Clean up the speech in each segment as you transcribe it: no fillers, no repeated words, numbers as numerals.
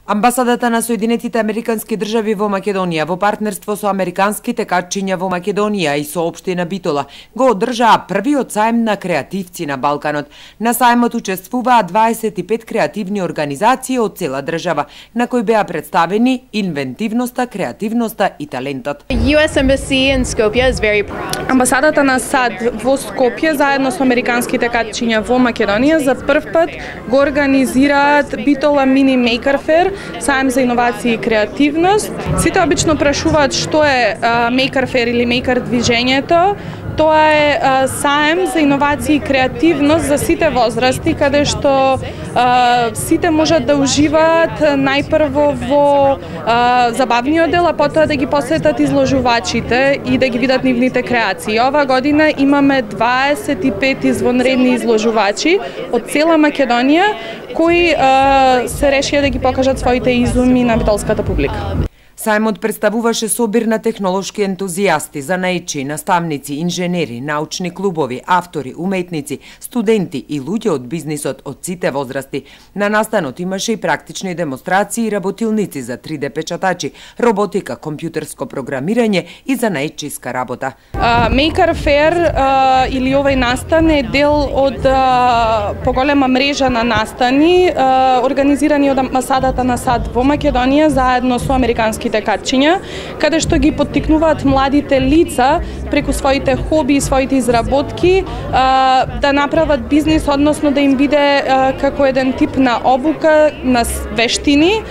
Амбасадата на Соединетите Американски држави во Македонија во партнерство со американските катчиња во Македонија и со општина Битола го одржаа првиот сајм на креативци на Балканот. На сајмот учествуваа 25 креативни организации од цела држава, на кои беа представени инвентивноста, креативноста и талентот. Амбасадата на САД во Скопје заедно со американските катчиња во Македонија за прв пат го организираат Битола Мини Maker Fair, сајм за иновации и креативност. Сите обично прашуваат што е Maker Fair или Maker движењето. Тоа е сајм за иновации и креативност за сите возрасти, каде што сите можат да уживаат најпрво во забавниот дел, а потоа да ги посетат изложувачите и да ги видат нивните креации. Ова година имаме 25 извонредни изложувачи од цела Македонија кои се решија да ги покажат своите изуми на битолската публика. Сајмот представуваше собир на технолошки ентузијасти, занаидчи, наставници, инженери, научни клубови, автори, уметници, студенти и луѓе од бизнисот од сите возрасти. На настанот имаше и практични демонстрации и работилници за 3D печатачи, роботика, компјутерско програмирање и занаидчиска работа. Maker Fair или овај настан е дел од поголема мрежа на настани организирани од амбасадата на САД во Македонија заедно со американските катчиња, каде што ги поттикнуваат младите лица преку своите хоби и своите изработки да направат бизнис, односно да им биде како еден тип на обука, на вештини,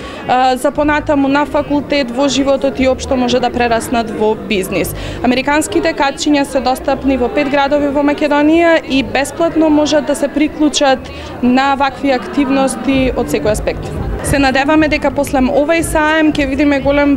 за понатаму на факултет, во животот и општо може да прераснат во бизнис. Американските катчиња се достапни во 5 градови во Македонија и бесплатно можат да се приклучат на вакви активности од секој аспект. Се надеваме дека после овај сајм ќе видиме голем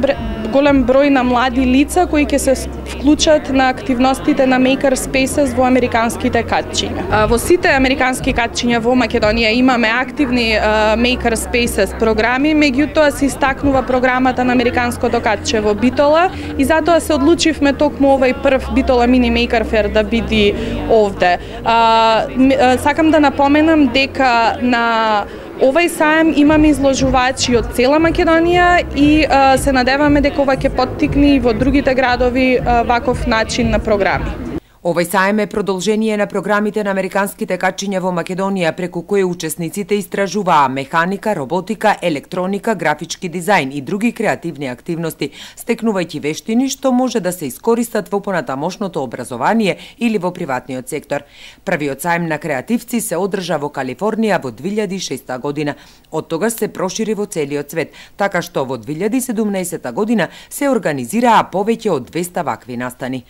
број на млади лица кои ќе се вклучат на активностите на Maker Spaces во американските катчиња. Во сите американски катчиња во Македонија имаме активни Maker Spaces програми, меѓутоа се истакнува програмата на американското катче во Битола и затоа се одлучивме токму овај прв Битола Mini Maker Fair да биде овде. Сакам да напоменам дека на овај сајм имаме изложувачи од цела Македонија и се надеваме дека ова ќе поттикне и во другите градови ваков начин на програми. Овај сајм е продолжение на програмите на американските катчиња во Македонија, преку кои учесниците истражуваа механика, роботика, електроника, графички дизајн и други креативни активности, стекнувајќи вештини што може да се искористат во понатамошното образование или во приватниот сектор. Првиот сајм на креативци се одржа во Калифорнија во 2006 година. Од тогаш се прошири во целиот свет, така што во 2017 година се организираа повеќе од 200 вакви настани.